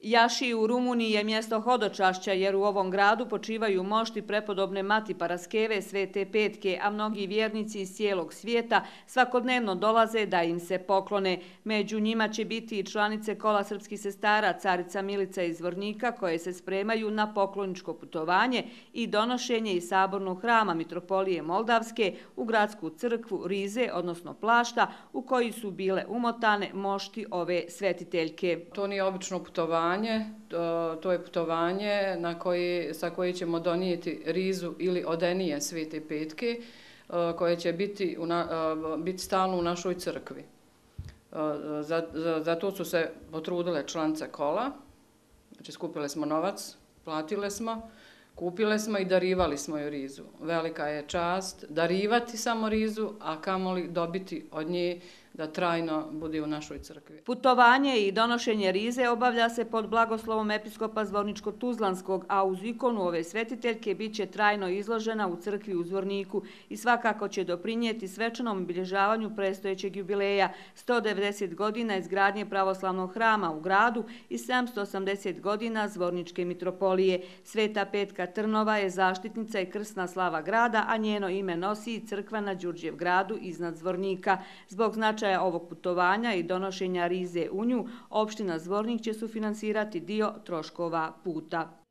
Jaši u Rumuniji je mjesto hodočašća jer u ovom gradu počivaju mošti prepodobne Mati Paraskeve Svete Petke, a mnogi vjernici iz cijelog svijeta svakodnevno dolaze da im se poklone. Među njima će biti i članice kola srpskih sestara, carica Milica iz Zvornika, koje se spremaju na pokloničko putovanje i donošenje iz sabornog hrama Mitropolije Moldavske u gradsku crkvu Rize, odnosno Plašta, u koji su bile umotane mošti ove svetiteljke. To nije obično putovanje. To je putovanje sa koje ćemo donijeti rizu ili odenije Svete Petke koje će biti stalno u našoj crkvi. Zato su se potrudile članice kola. Znači, skupile smo novac, platile smo, kupile smo i darivali smo joj rizu. Velika je čast darivati samo rizu, a kamoli dobiti od nje da trajno bude u našoj crkvi. Putovanje i donošenje rize obavlja se pod blagoslovom episkopa Zvorničko-Tuzlanskog, a uz ikonu ove svetiteljke bit će trajno izložena u crkvi u Zvorniku i svakako će doprinijeti svečanom obilježavanju predstojećeg jubileja 190 godina izgradnje pravoslavnog hrama u gradu i 780 godina Zvorničke mitropolije. Sveta Petka Trnova je zaštitnica i krsna slava grada, a njeno ime nosi i crkva na Đurđev gradu iznad Zvornika. Zbog značaja ovog putovanja i donošenja rize u nju, opština Zvornik će sufinansirati dio troškova puta.